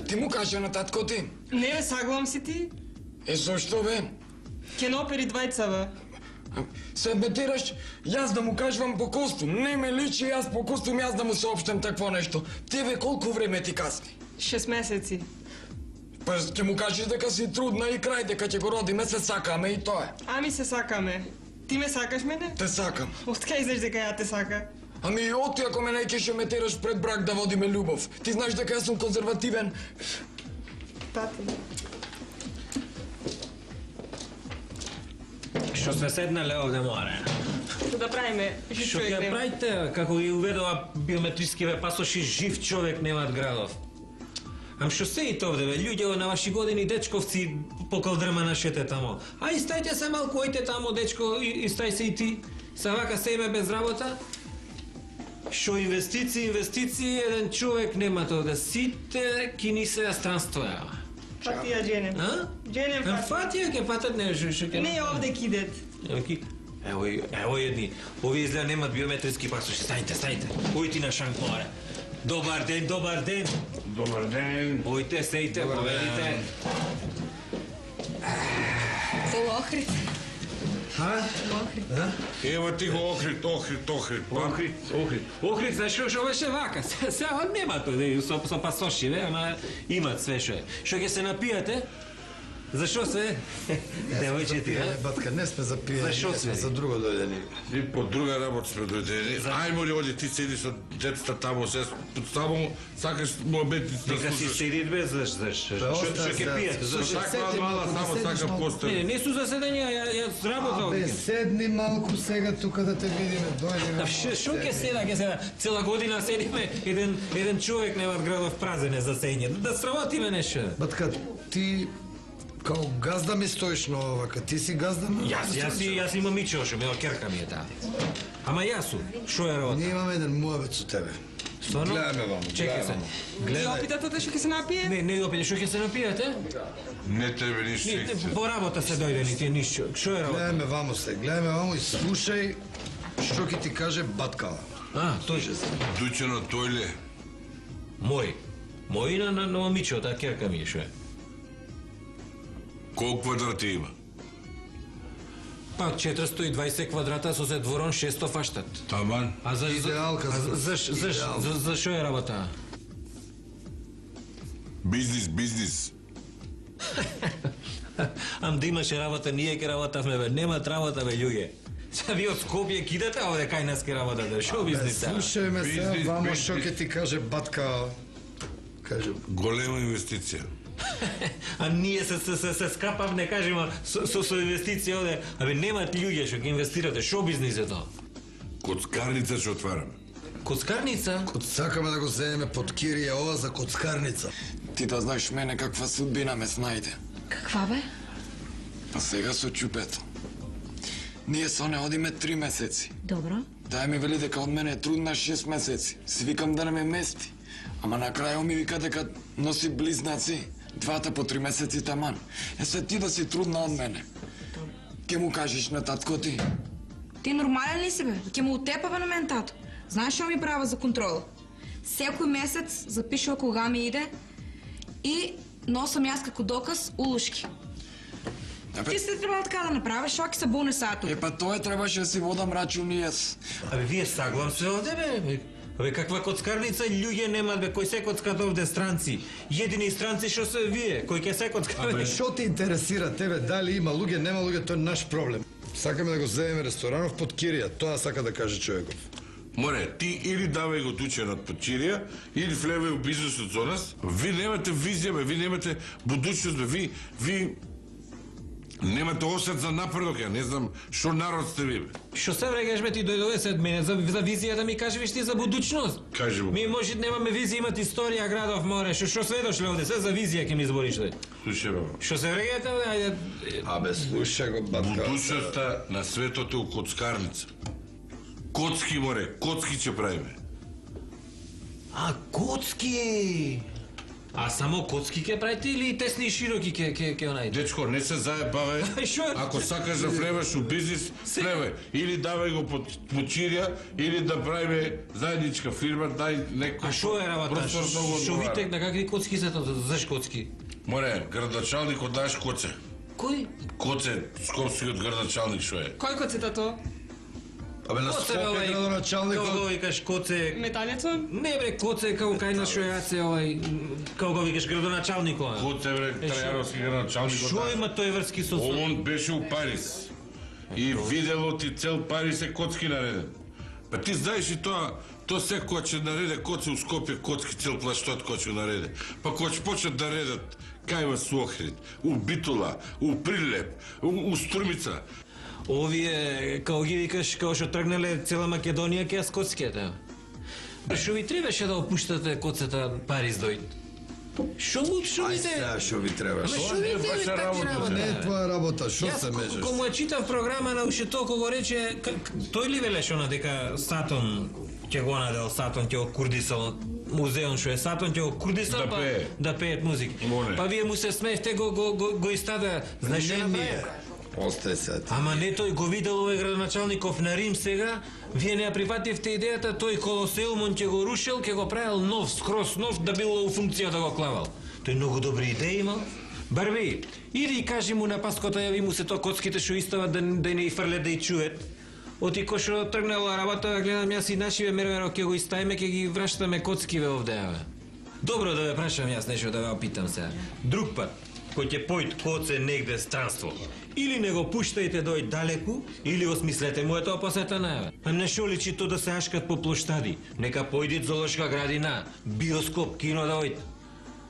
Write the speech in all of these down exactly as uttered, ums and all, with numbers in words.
Ти му кажа на татко ти? Не, бе, саглам си ти. Е, зашто, бе? Ке напери двајца, бе. Се бетираш, јас да му кажувам по костум. Не ме личи јас по костум, јас да му соопштам такво нешто. Тебе колку време ти касни? Шест месеци. Па ќе му кажеш дека си трудна и крај, дека ќе го родиме, се сакаме и тоа е. Ами се сакаме. Ти ме сакаш мене? Те сакам. Откај знаеш дека ја те сака? Ами оти ако ме неќеше ме тераш пред брак да водиме љубов. Ти знаеш дека јас сум конзервативен. Тати. Што сме седнале овде, море? Што да правиме? Што ќе правите, како ги уведува биометрискиве пасоши, жив човек немаат градов? Ам што се и овде, бе, луѓе на ваши години, дечковци по калдрма нашете тамо. Ај, стајте се малку, ојте тамо, дечко, и, и стај се и ти. Са вака се име без работа? Што инвестиции, инвестиции, еден човек немат овде. Сите ки ни се странствоја. Фатија дженем. А? Дженем Ам фатија. фатија ке патат не, шо шо ке... Не овде кидет. Ево, ево едни. Овие изгледа немат биометриски пасоши. Стајте, стајте. Ојти на шанк, море. Добар ден, добар ден. Добар ден. Ојте, сејте, поведите. Во Охрид. Ха? Ева ти го Охрид, Охрид, Охрид. Охрид, Охрид. Охрид, знаеш што што беше вака? Сега нема тој со со пасоши, ве, ама имат све што е. Што ќе се напијате? Зашо се? Девојче ти, а? Батка, не сме за пиење, Зашо не сме се? за друго дојдени. И по друга работа сме дојдени. Ајмо ли оди ти седи со децата таму, се само сакаш моменти да Нека си слушаш. седи без заш заш. Што што ќе пиете? Зашо сакам мала само сакам Не, постел. не су заседања, ја ја работа Абе, овде. седни малку сега тука да те видиме, дојдеме. Што што ќе седа, ќе седа? Цела година седиме, еден еден човек немат градов празен е за сење. Да сработиме нешто. Батка, ти као газда ми стоиш на овака, ти си газда на... Јас, јас, и- јас имам мичо, што ме керка ми е таа. Ама јас сум, што е работа? Ние имаме еден муабет со тебе. Стварно? Гледаме вам, Чекај се. гледаме. И опитате што ќе се напие? Не, не опите, што ќе се напијате? Не тебе ништо. Не, не, по работа се дојдени ти ништо. Што е работа? Гледаме вамо се, гледаме вамо и слушај што ќе ти каже баткала. А, тој. Дучено тојле. Мој. Мој на на, на момиче, таа керка ми е, што е. Колку квадрати има? Па четиристо и дваесет квадрата со се дворон шесто фаштат. Таман. А за Идеалка, за за за за идеалка. за за што е работа? Бизнис, бизнис. Ам да имаше работа, ние ке работавме, бе. Немат работа, бе, луѓе. Са ви од Скопје кидате овде кај нас ке работате. Шо бизнис? Слушај ме сега Бизнис, вамо бизнис. што ќе ти каже батка. Каже, Голема инвестиција. А ние се се се, се скапав, не кажеме со со, со инвестиција овде. Абе немат луѓе што ќе инвестирате. Шо бизнис е тоа? Коцкарница ќе отвараме. Коцкарница? код сакаме да го земеме под кирија ова за коцкарница. Ти да знаеш мене каква судбина ме снајде. Каква бе? А сега со чупето. Ние со не одиме три месеци. Добро. Тај ми вели дека од мене е трудна шест месеци. Си викам да не ме мести. Ама на крајот ми вика дека носи близнаци. Двата по три месеци таман. Е се ти да си трудна од мене. Ке му кажеш на татко ти? Ти нормален ли си бе? Ке му утепава на мен тато. Знаеш што ми права за контрола? Секој месец запишува кога ми иде и носам јас како доказ улушки. Абе, Ти се треба така да направиш, што ќе се буне сато. е па тоа требаше да си водам рачун и јас. Абе вие саглам се овде, бе. Абе каква коцкарница, луѓе немат, бе, кој се коцкат овде странци. Едини странци што се вие, кој ќе се коцкат. Абе, што те интересира тебе, дали има луѓе, нема луѓе, тоа е наш проблем. Сакаме да го земеме ресторанов под кирија, тоа сака да каже човеков. Море, ти или давај го дученот под кирија, или влевај у бизнисот со нас. Ви немате визија, бе, ви немате будуćност, бе, ви, ви немате осет за напредок, ја не знам што народ сте ви, бе. Што се врегаш, бе, ти дојдове сед мене за, за визија да ми кажеш ти за будучност. Кажи му. Ми може немаме визија, имат историја градов море. Што што све дошле овде, се за визија ќе ми избориш тој. Слушај, бе. Што се врегате, овде, ајде. Абе, слушај го, батка. Будуćноста на светот е у коцкарница. Коцки, море, коцки ќе правиме. А коцки. А само коцки ќе правите или и тесни и широки ќе ќе ќе онајде? Дечко, не се заебавај. Ај, шо? Ако сакаш да влеваш у бизнис, влевај. Или давај го под почирија, или да правиме заедничка фирма, дај некој. А шо е работа? простор да го Шо одговара. витек на какви коцки се тоа? Заш коцки? Море, градачалник од наш коце. Кој? Коце, скопскиот градачалник шо е? Кој коцета тоа? Абе на Коце, бе, Скопје овај, градоначалникот. како го викаш коце? Метањето? Не бре, коце како кај на шо јаце овај, како го викаш градоначалникот. Коце, бре, трајаровски градачалник од Шо наш. има тој врски со со? Он беше у Париз. И видело ти цел Париз е коцки нареден. Па ти знаеш и тоа, то секој ќе нареде коци у Скопје, коцки цел плаштот кој ќе нареде. Па кој ќе почнат да редат кај вас у Охрид, у Битола, у Прилеп, у, у Струмица. Овие, како ги викаш, како што тргнале цела Македонија ќе јас коцките. Шо ви требаше да опуштате коцета Париз дојд? Шо му, шо ви Ај те... сега што ви требаш? Ама Тоа шо не е ви ваша те такви работа, работа? Не е твоја работа, што Јас се ко- межеш? кога му ја читав програма на уште толку го рече, к- к- тој ли велеше она дека Сатон ќе го надел, Сатон ќе го курдисал музеон што е Сатон ќе го курдисал Да па пее. да пеет музика. Моне. Па вие му се смеевте го го го, го истада. Знаеш што Не направи? ние. Остај се. Ама не тој го видел овој градоначалников на Рим сега, вие не ја прифативте идејата, тој Колосеумон ќе го рушил, ќе го правил нов, скрос нов, да било у функција да го клавал. Тој многу добри идеи имал. Барби, иди и кажи му на паскота, јави му се то коцките што истават да, да не и фрлет да и чует. Оти кој што тргнала работа, гледам јас и нашиве мерверо ќе го иставиме, ќе ги вращаме коцкиве овде, аве. Добро да ве прашам јас нешто да ве опитам сега. Друг пат, кој ќе појд коце негде странство, или не го пуштајте дој далеку, или осмислете му е тоа посета најаве. А не шо личи то да се ашкат по плоштади, нека појдит зоолошка градина, биоскоп, кино да ојд.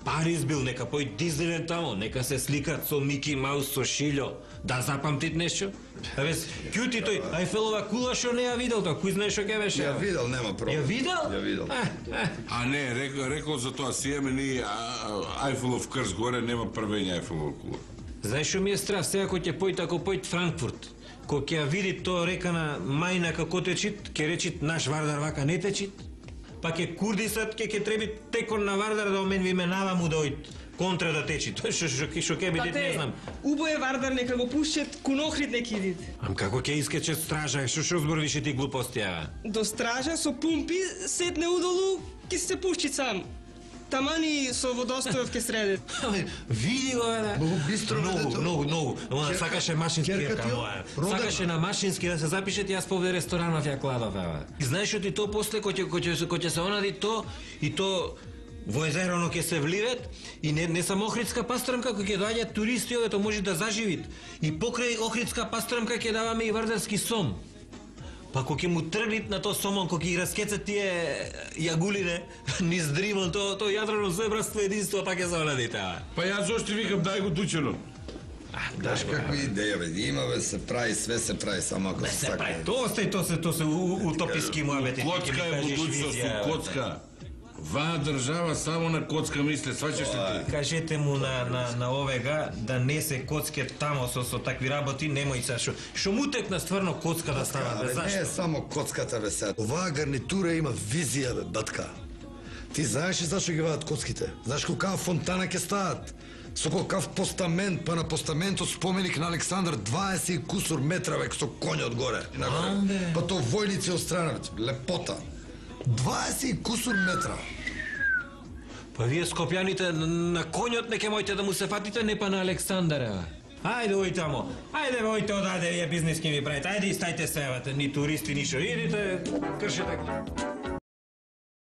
Париз бил, нека појд Диснейленд тамо, нека се сликат со Мики Маус, со Шилјо, да запамтит нешто. А вес, кјути тој, Ајфелова кула што не ја видел тоа, кој знае што ќе беше? Ја видел, нема проблем. Ја видел? Ја видел. А, а. А не, рекол, рекол за тоа, си еме ни Ајфелов крст горе, нема првење Ајфелова кула. Знаеш што ми е страв, сега кој ќе појд, ако појд Франкфурт, кој ќе ја види тоа река на мајна како течит, ќе речит наш Вардар вака не течит, па ќе курдисат, ќе ќе треби текон на Вардар да омен ви менава му да ојд контра да течи. Тоа што што што ќе биде, не знам. убој Вардар нека го пушчет, кун Охрид нека идит. Ам како ќе искаче стража, што што зборвише ти глупости, а? До стража со пумпи, сетне удолу, ќе се пушчи сам. Тамани со водостојов ке средит. Аме, види го, бе, да. Многу бистро, бе, Многу, дето. многу, многу. Ама Керка- сакаше машински керка керка ти, моја. родена. Сакаше на машински да се запишете, јас повде ресторанов ја кладов, еве. И знаеш што ти то после кој ќе кој ќе кој ќе се онади то и то во езероно ќе се вливет и не не само Охридска пастрмка кој ќе доаѓаат туристи овде то може да заживит. И покрај Охридска пастрмка ќе даваме и вардарски сом. Па кога ќе му тргнит на тој сомон, кога ќе ги раскецат тие јагулине низ дримон, то то јадрено се братство единство па ќе се онади таа. Па јас зошто викам дај го дучено. Даш какви идеја, бе, има, бе, се прави, све се прави, само ако се Се сака. прави, то остај, то се, то се у- у- утописки муабети. Коцка е будуćност, у коцка. Ваа држава само на коцка мисле, сваќаш ли ти? Кажете му на, на, на овега да не се коцке тамо со, со такви работи, немој се шо. Шо му текна стварно коцка да става, бе, Абе, не е зашто? само коцката, бе, сега. Оваа гарнитура има визија, бе, батка. Ти знаеш ли зашто ги вадат коцките? Знаеш колкава фонтана ќе стават? Со колкав постамент, па на постаментот споменик на Александар дваесет и кусур метра, бе, со конјот горе. и нагоре. Амбе. Па то војници од страна, бе, лепота. дваесет и кусур метра. Па вие скопјаните на, на конјот не ке мојте да му се фатите, не па на Александар, ева. Ајде, ој тамо. Ајде, бе, ојте одаде, вие бизнес ке ми правите. Ајде, и стајте се, евате, ни туристи, ни шо. Идите, кршете.